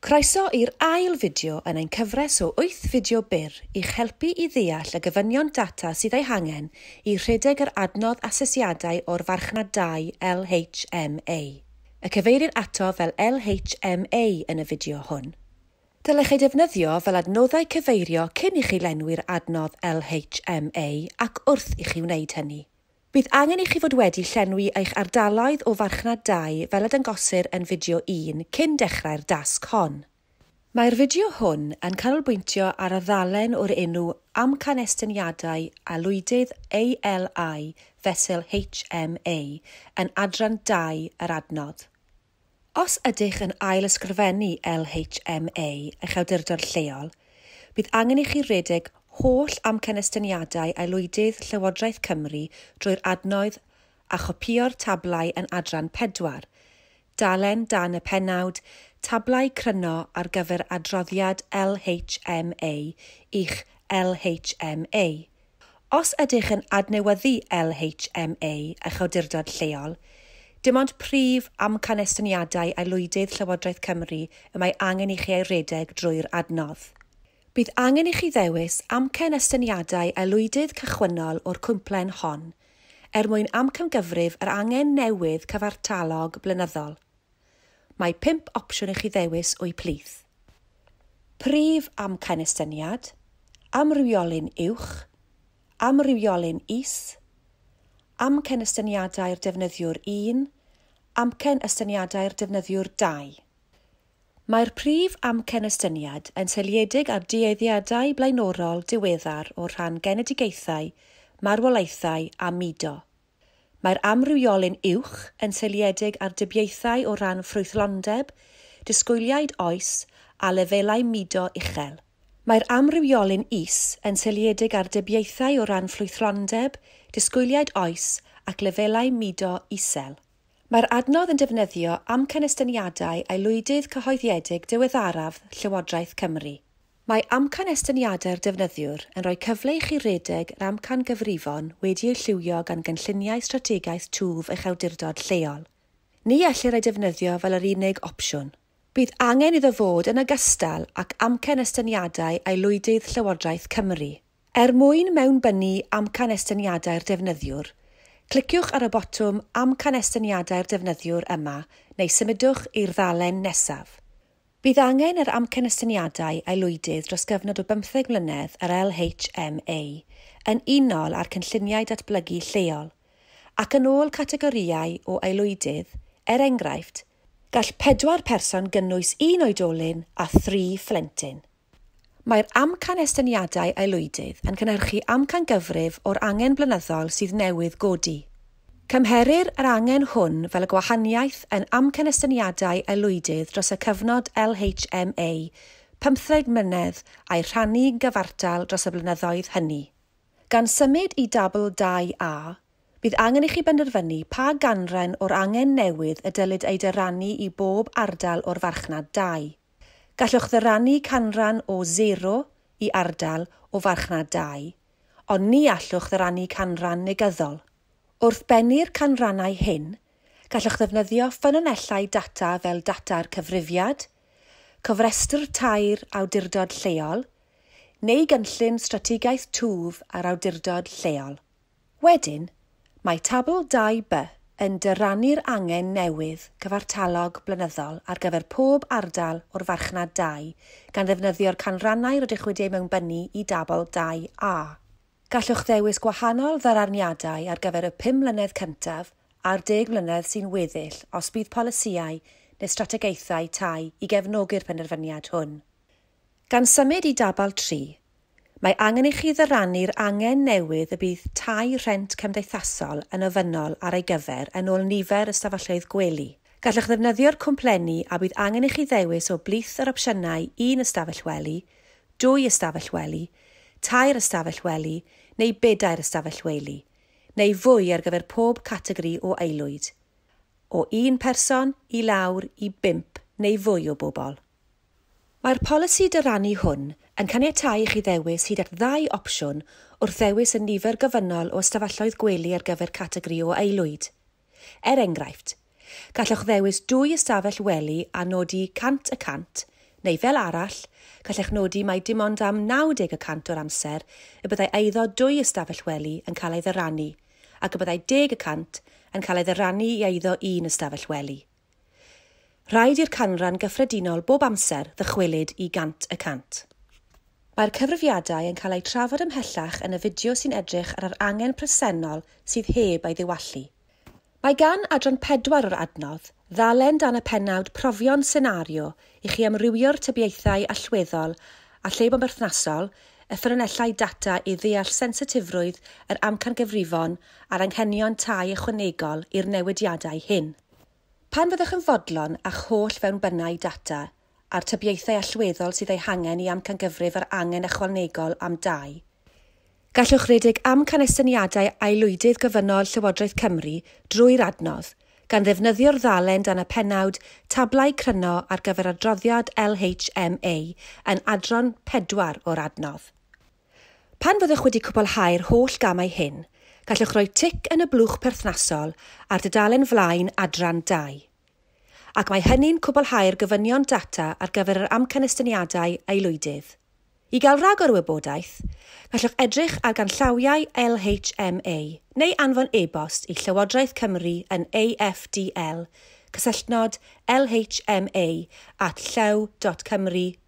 Croeso i'r ail fideo yn ein cyfres o 8 fideo byr i'ch helpu i ddeall y gofynion data sydd eu hangen i rhedeg yr adnodd asesiadau o'r farchnad dai LHMA. Y cyfeirir ato fel LHMA yn y fideo hwn. Dylech ei defnyddio fel adnoddau cyfeirio cyn i chi lenwi'r adnodd LHMA ac wrth i chi wneud hynny. Bydd angen i chi fod wedi llenwi eich ardaloedd o farchnad dai fel y dangosir yn fideo 1 cyn dechrau'r dasg hon. Mae'r fideo hwn yn canolbwyntio ar y ddalen o'r enw Amcanestyniadau Aelwydydd ALI fesul HMA yn adran 2 yr adnodd. Os ydych yn ail-ysgrifennu LHMA eich awdurdod lleol, bydd angen i chi redeg holl amcanestyniadau aelwydydd Llywodraeth Cymru drwy'r adnodd a chopïo'r tablau yn adran 4, dalen dan y pennawd Tablau Cryno ar gyfer adroddiad LHMA i'ch LHMA. Os ydych yn adnewyddu LHMA eich awdurdod lleol, dim ond prif amcanestyniadau aelwydydd Llywodraeth Cymru y mae angen i chi ei redeg drwy'r adnodd. Bydd angen i chi ddewis amcanestyniadau aelwydydd cychwynnol o'r cwmplen hon, er mwyn amcangyfrif yr angen newydd cyfartalog blynyddol. Mae 5 opsiwn i chi ddewis o'u plith. Prif amcanestyniad, amrywiolyn uwch, amrywiolyn is, amcanestyniadau'r defnyddiwr 1, amcanestyniadau'r defnyddiwr 2. Mae'r prif amcanestyniad yn seiliedig ar dueddiadau blaenorol diweddar o rhan genedigaethau, marwolaethau a mudo. Mae'r amrywiolyn uwch yn seiliedig ar dybiaethau o ran ffrwythlondeb, disgwyliaid oes a lefelau mudo uchel. Mae'r amrywiolyn is yn seiliedig ar dybiaethau o ran ffrwythlondeb, disgwyliaid oes ac lefelau mudo isel. Mae'r adnodd yn defnyddio amcanestyniadau aelwydydd cyhoeddiedig diweddaraf Llywodraeth Cymru. Mae amcanestyniadau'r defnyddiwr yn rhoi cyfle i chi redeg yr amcangyfrifon wedi eu lliwio gan gynlluniau strategaeth twf eich awdurdod lleol. Ni ellir ei defnyddio fel yr unig opsiwn. Bydd angen iddo fod yn ogystal ac amcanestyniadau aelwydydd Llywodraeth Cymru. Er mwyn mewnbynnu amcanestyniadau'r defnyddiwr, cliciwch ar y botwm Amcanestyniadau'r defnyddiwr yma neu symudwch i'r ddalen nesaf. Bydd angen yr amcanestyniadau aelwydydd dros gyfnod o 15 mlynedd yr LHMA yn unol â'r cynlluniau datblygu lleol ac yn ôl categorïau o aelwydydd, er enghraifft, gall 4 person gynnwys 1 oedolyn a 3 phlentyn. Mae'r amcanestyniadau aelwydydd yn cynhyrchu amcangyfrif o'r angen blynyddol sydd newydd godi. Cymherir yr angen hwn fel y gwahaniaeth yn amcanestyniadau aelwydydd dros y cyfnod LHMA 15 mlynedd a'i rhannu gyfartal dros y blynyddoedd hynny. Gan symud i dabl 2A, bydd angen i chi benderfynu pa ganran o'r angen newydd y dylid ei dyrannu i bob ardal o'r farchnad dai. Gallwch ddyrannu canran o 0 i ardal o farchnad dai, ond ni allwch ddyrannu canran negyddol. Wrth bennu'r canrannau hyn, gallwch ddefnyddio ffynonellau data fel data'r cyfrifiad, cofrestr tair awdurdod lleol, neu gynllun strategaeth twf ar awdurdod lleol. Wedyn, mae tabl 2B yn dyrannu'r angen newydd cyfartalog blynyddol ar gyfer pob ardal o'r farchnad dai, gan ddefnyddio'r canrannau rydych wedi eu mewnbynnu i dabl 2A. Gallwch ddewis gwahanol ddyraniadau ar gyfer y 5 mlynedd cyntaf a'r 10 mlynedd sy'n weddill os bydd polisïau neu strategaethau tai i gefnogi'r penderfyniad hwn. Gan symud i dabl 3, mae angen i chi ddyrannu'r angen newydd y bydd tai rhent cymdeithasol yn ofynnol ar ei gyfer yn ôl nifer ystafelloedd gwely. Gallwch ddefnyddio'r cwmplenni a bydd angen i chi ddewis o blith yr opsiynau 1 ystafell wely, 2 ystafell wely, 3 ystafell wely neu 4 ystafell wely, neu fwy ar gyfer pob categori o aelwyd, o 1 person i lawr i 5 neu fwy o bobl. Mae'r polisi dyrannu hwn yn caniatáu i chi ddewis hyd at 2 opsiwn wrth ddewis y nifer gofynnol o ystafelloedd gwely ar gyfer categori o aelwyd. Er enghraifft, gallwch ddewis 2 ystafell wely a nodi 100% Neu fel arall, gallech nodi mai dim ond am 90% o'r amser y byddai eiddo dwy ystafell wely yn cael ei ddyrannu, ac y byddai 10% yn cael ei ddyrannu i eiddo un ystafell wely. Rhaid i'r canran gyffredinol bob amser ddychwelyd i 100%. Mae'r cyfrifiadau yn cael eu trafod ymhellach yn y fideo sy'n edrych ar yr angen presennol sydd heb ei ddiwallu. Mae gan adran 4 o'r adnodd ddalen dan y pennawd profion senario i chi amrywio'r tybiaethau allweddol a lle bo'n berthnasol, y ffynonellau data i ddeall sensitifrwydd yr amcangyfrifon a'r anghenion tai ychwanegol i'r newidiadau hyn. Pan fyddwch yn fodlon â'ch holl fewnbynnau data a'r tybiaethau allweddol sydd eu hangen i amcangyfrif yr angen ychwanegol am dai, gallwch redeg amcanestyniadau aelwydydd gofynnol Llywodraeth Cymru drwy'r adnodd, gan ddefnyddio'r ddalen dan y pennawd Tablau Cryno ar gyfer adroddiad LHMA yn adran 4 o'r adnodd. Pan fyddwch wedi cwblhau'r holl gamau hyn, gallwch roi tic yn y blwch perthnasol ar dudalen flaen adran 2. Ac mae hynny'n cwblhau'r gofynion data ar gyfer yr amcanestyniadau aelwydydd. I gael rhagor o wybodaeth, gallwch edrych ar ganllawiau LHMA neu anfon e-bost i Llywodraeth Cymru yn AFDL, cysylltnod lhma@llyw.cymru.uk.